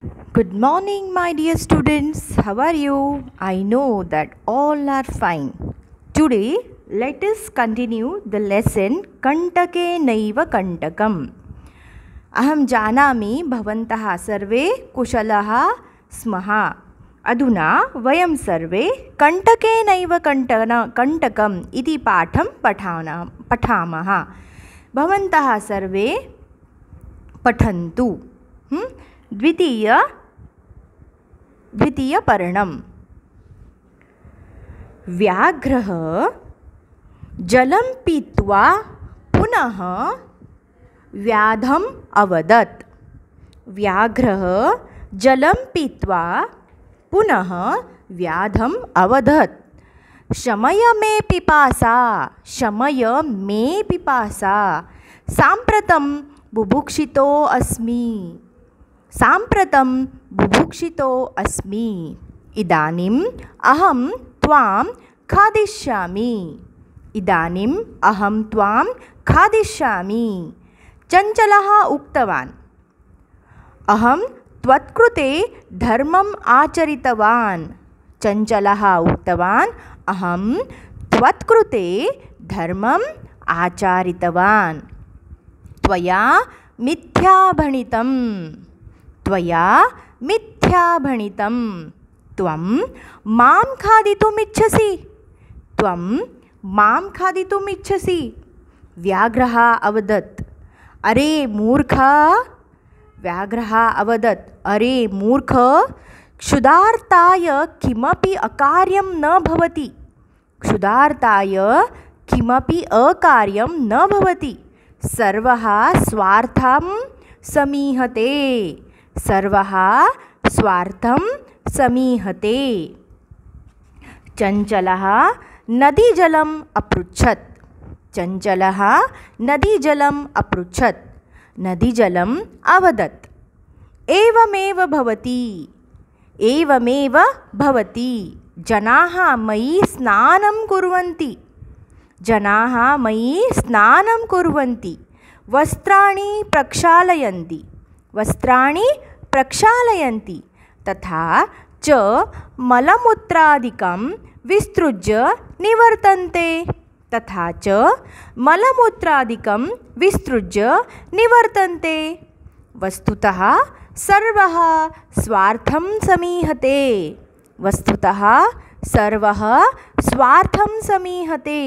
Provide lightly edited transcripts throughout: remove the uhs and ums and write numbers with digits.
Good morning, my dear students. How are you? I know that all are fine. Today, let us continue the lesson Kantake Naiva Kantakam. Aham janami bhavantah sarve kushalah smaha. Aduna vayam sarve Kantake Naiva Kantakam iti patham pathamaha. Bhavantah sarve pathantu. द्वितीयपर्णम् व्याघ्रः जलं पीत्वा पुनः व्याधम् अवदत्। व्याघ्रः जलं पीत्वा पुनः व्याधम् अवदत्। शमय मे पिपासा, शमय मे पिपासा, साम्प्रतं बुभुक्षितो अस्मि, साम्प्रतं बुभुक्षितो अस्मि। इदानीम् अहं त्वां खादिष्यामि, इदानीम् अहं त्वां खादिष्यामि। चञ्चलः उक्तवान्, अहं त्वत्कृते धर्मम् आचरितवान्। चञ्चलः उक्तवान्, अहं त्वत्कृते धर्मम् आचरितवान्। त्वया मिथ्या भणितं, त्वया मिथ्या भणितं। त्वं मां खादितुम् इच्छसि, त्वं मां खादितुम् इच्छसि। व्याघ्रः अवदत्, अरे मूर्ख, व्याघ्रः अवदत्, अरे मूर्ख, क्षुधार्ताय किमपि अकार्यं न भवति, क्षुधार्ताय किमपि अकार्यं न भवति। सर्वः स्वार्थं समीहते, सर्वः स्वार्थं समीहते। चञ्चलः नदीजलम् अपृच्छत्, चञ्चलः नदीजलम् अपृच्छत्। नदीजलम् अवदत्, एवमेव भवति, एवमेव भवति। जनाः मयि स्नानं कुर्वन्ति, जनाः मयि स्नानं कुर्वन्ति। वस्त्राणि प्रक्षालयन्ति, वस्त्राणि प्रक्षालयन्ति। तथा च मलमूत्रादिकं विसृज्य निवर्तन्ते, तथा च मलमूत्रादिकं विसृज्य निवर्तन्ते। वस्तुतः सर्वः स्वार्थं समीहते, वस्तुतः सर्वः स्वार्थं समीहते।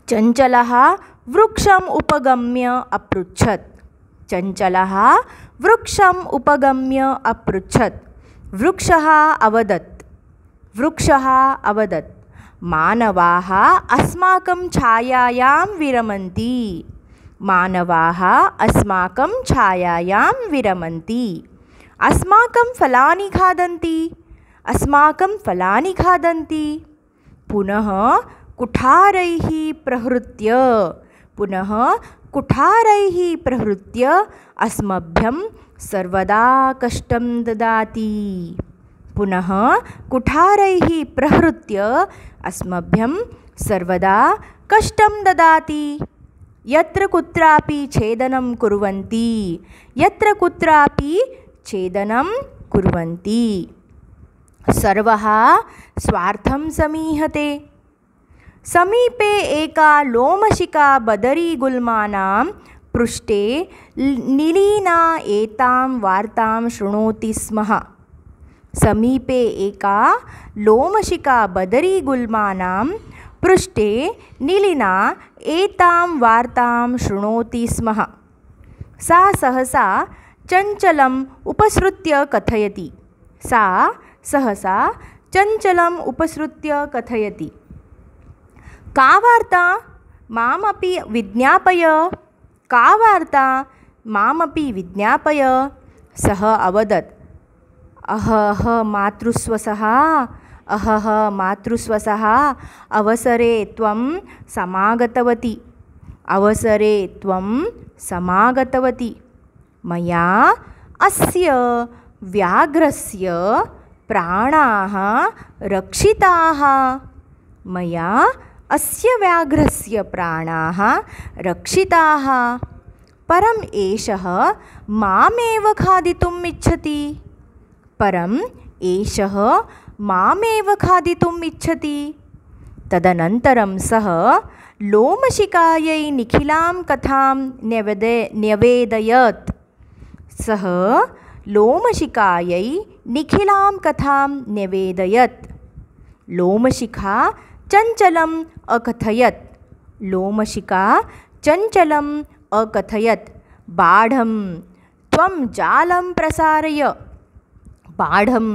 चञ्चलः वृक्षम् उपगम्य अपृच्छत्, चञ्चलः वृक्षम् उपगम्य अपृच्छत्। वृक्षः अवदत्, वृक्षः अवदत्, मानवाः अस्माकं छायायां विरमन्ति, मानवाः अस्माकं छायायां विरमन्ति। अस्माकं फलानि खादन्ति, अस्माकं फलानि खादन्ति। पुनः कुठारैः प्रहृत्य, पुनः कुठारैः प्रहृत्य अस्मभ्यं सर्वदा कष्टं ददाति, पुनः कुठारैः प्रहृत्य अस्मभ्यं सर्वदा कष्टं ददाति। यत्र कुत्रापि छेदनं कुर्वन्ति, यत्र कुत्रापि छेदनं कुर्वन्ति। सर्वः स्वार्थं समीहते। समीपे एका लोमशिका बदरीगुल्मानां पृष्ठे निलीना एतां वार्तां शृणोति स्म। समीपे एका लोमशिका बदरीगुल्मानां पृष्ठे निलीना एतां वार्तां शृणोति स्म। सा सहसा चञ्चलम् उपसृत्य कथयति, सा सहसा चञ्चलम् उपसृत्य कथयति, का वार्ता मामपि विज्ञापय, का वार्ता मामपि विज्ञापय। सः अवदत्, अहः मातृस्वसः, अहः मातृस्वसः, अवसरे त्वं समागतवती, अवसरे त्वं समागतवती। मया अस्य व्याघ्रस्य प्राणाः रक्षिताः, मया अस्य व्याघ्रस्य प्राणाः रक्षिताः। परम् एषः मामेव खादितुम् इच्छति। परम् एषः मामेव खादितुम् इच्छति। तदनन्तरं सः लोमशिखायै निखिलां कथां न्यवेदयत्। सः लोमशिखायै निखिलां कथां न्यवेदयत्। लोमशिखा चञ्चलम् अकथयत्। लोमशिखा चञ्चलम् अकथयत्। बाढं त्वं जालं प्रसारय। बाढं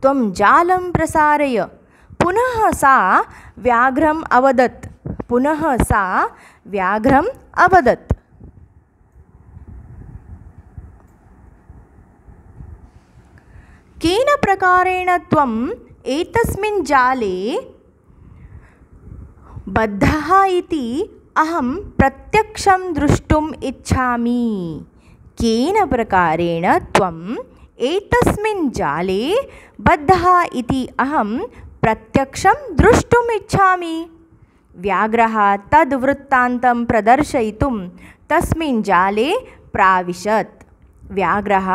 त्वं जालं प्रसारय। पुनः सा व्याघ्रम् अवदत्। पुनः सा व्याघ्रम् अवदत्। केन प्रकारेण त्वम् एतस्मिन् जाले बद्धः इति अहं प्रत्यक्षं द्रष्टुम् इच्छामि। केन प्रकारेण त्वम् एतस्मिन् जाले बद्धः इति अहं प्रत्यक्षं द्रष्टुम् इच्छामि। व्याघ्रः तद्वृत्तान्तं प्रदर्शयितुं तस्मिन् जाले प्राविशत्। व्याघ्रः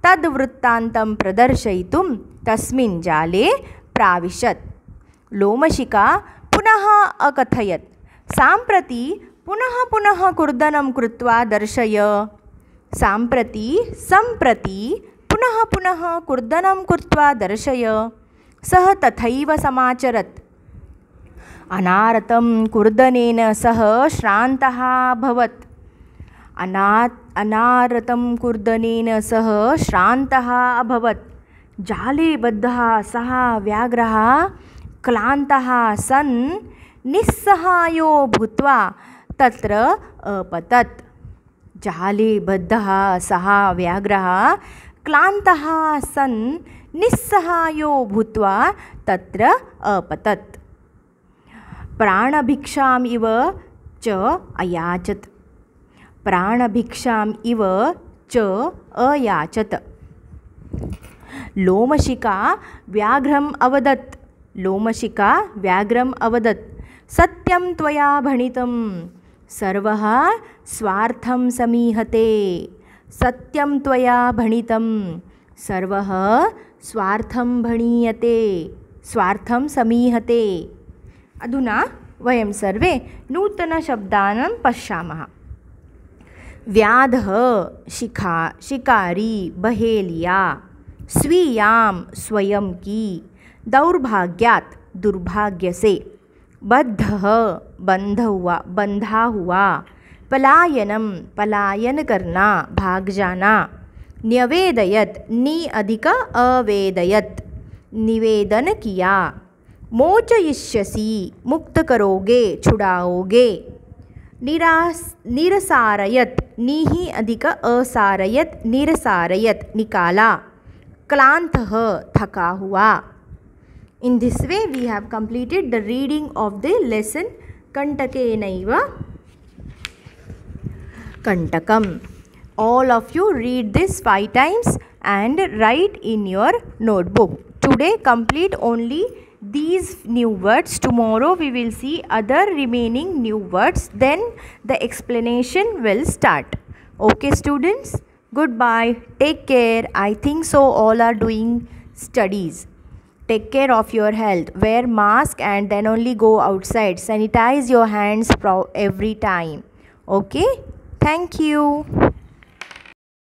तद्वृत्तान्तं प्रदर्शयितुं तस्मिन् जाले प्राविशत्। लोमशिखा पुनः अकथयत्। साम्प्रति पुनः पुनः कूर्दनं कृत्वा दर्शय। साम्प्रति सम्प्रति पुनः पुनः कूर्दनं कृत्वा दर्शय। सः तथैव समाचरत्। अनारतं कूर्दनेन सः श्रान्तः अभवत्। अनारतं कूर्दनेन सः श्रान्तः अभवत्। जाले बद्धः सः व्याघ्रः क्लान्तः सन् निस्सहायो भूत्वा तत्र अपतत्। जाले बद्धः सः व्याघ्रः क्लान्तः सन् निस्सहायो भूत्वा तत्र अपतत्। प्राणभिक्षाम् इव च अयाचत। प्राणभिक्षाम् इव च अयाचत। लोमशिखा व्याघ्रम् अवदत्। लोमशिखा व्याघ्रम् अवदत्। सत्यं त्वया भणितं सर्वः स्वार्थं समीहते। सत्यं त्वया भणितं सर्वः स्वार्थं भणीयते। स्वार्थं समीहते। अधुना वयं सर्वे नूतनशब्दानां पश्यामः। व्याधः शिकारी बहेलिया। स्वीयां स्वयं की। दौर्भाग्यात् दुर्भाग्य से। बद्धः बंधा हुआ। पलायनम पलायन करना भाग जाना। न्यवेदयत् नि अधिक अवेदयत् निवेदन किया। मोचयिष्यसि मुक्त करोगे छुड़ाओगे। निरसारयत् नीहि अधिक असारयत् निरसारयत् निकाला। क्लान्तः थका हुआ। In this way we have completed the reading of the lesson Kantakenaiva Kantakam. All of you read this 5 times and write in your notebook. Today complete only these new words. Tomorrow we will see other remaining new words. Then the explanation will start. Okay students, goodbye. Take care. I think so all are doing studies. Take care of your health. Wear mask and then only go outside. Sanitize your hands every time. Okay? Thank you.